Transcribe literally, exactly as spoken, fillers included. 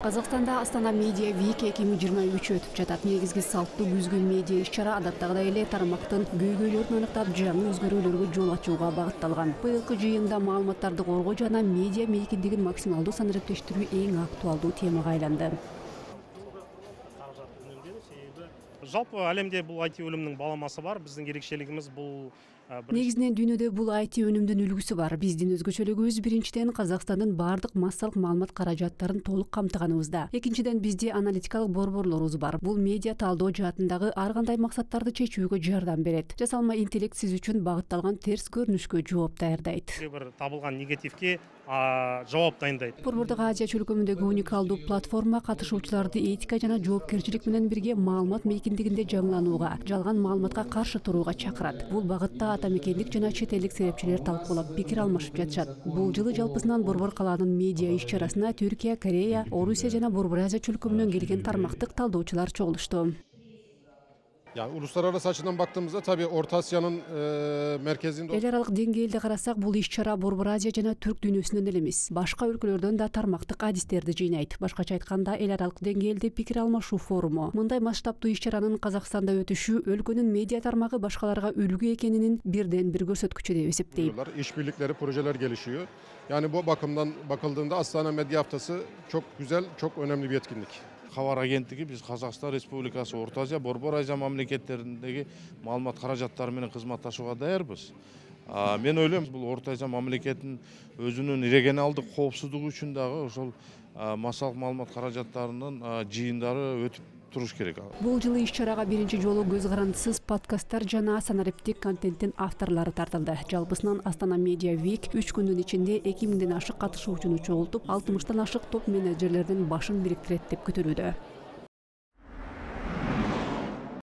Казакстанда Астана Медиа Week эки миң жыйырма үч өтүп жатат. Негизги салттуу күзгү медиа иш-чара адаттагыдай эле тармактын көйгөйлөрүн аныктап, жаңы өзгөрүүлөргө жол ачууга багытталган. Быйылкы жыйында маалыматтарды коргоо жана медиа мейкиндигин максималдуу санариптештирүү эң актуалдуу темага айланды. Жалпы әлемде бул ай ти өнүмүнүн баламасы бар. Биздин ерекшелигибиз бул негизинен дүйнөдө бул ай ти өнүмдүн үлгүсү бар. Биздин өзгөчөлүгүбүз биринчиден Казакстандын бардык массалык маалымат каражаттарын толук камтыганыбызда. Экинчиден бизде аналитикалык борборлорубуз бар. Бул медиа талдоо жаатындагы ар кандай максаттарды чечүүгө жардам берет. Жасалма интеллект сиз үчүн багытталган терс көрүнүшкө жооп даярдайт. Бир табылган негативге жооп дайындайт. Борбордук Азия чөлкөмүндөгү уникалдуу платформа катышуучуларды этика жана жоопкерчилик менен бирге маалымат мейкиндигинде жаңыланууга, жалган маалыматка каршы турууга чакырат. Бул багытта ата мекендик жана чет элдик серепчилер талкуулап пикир алмашып жатышат. Бул жылы жалпысынан Борбор калаанын медиа иш-чарасына Түркия, Корея, Орусия жана Борбор Азия чөлкөмүнөн келген тармактык талдоочулар чогулушту. Yani uluslararası açıdan baktığımızda tabii Orta Asya'nın e, merkezinde... Эл аралык деңгээлде карасак, бул иш-чара Борбор Азия жана Түрк дүйнөсүнөн эле эмес, башка өлкөлөрдөн да тармактык адистерди жыйнайт. Башкача айтканда, эл аралык деңгээлде пикир алмашуу форуму. Мындай масштабтуу иш-чаранын Казакстанда өтүшү өлкөнүн медиа тармагы башкаларга үлгү экенинин бирден бир көрсөткүчү деп эсептейм. İşbirlikleri, projeler gelişiyor. Yani bu bakımdan bakıldığında Astana Medya Haftası çok güzel, çok önemli bir etkinlik. Хабар агенттиги биз Казакстан Республикасы, Орто Азия, Борбор Азия мамлекеттериндеги маалымат каражаттары менен кызматташууга даярбыз. Мен ойлойм, бул Орто Азия мамлекетинин өзүнүн регионалдык коопсуздугу үчүн дагы ошол массалык маалымат каражаттарынын жыйындары өтүп туруш керек. Бул жылы иш-чарага биринчи жолу көз карандысыз подкасттар жана санариптик контенттин авторлору тартылды. Жалпысынан Астана Медиа Week үч күндүн ичинде эки миңден ашык катышуучуну чогултуп, алтымыштан ашык топ менеджерлердин башын бириктирет деп күтүлүүдө.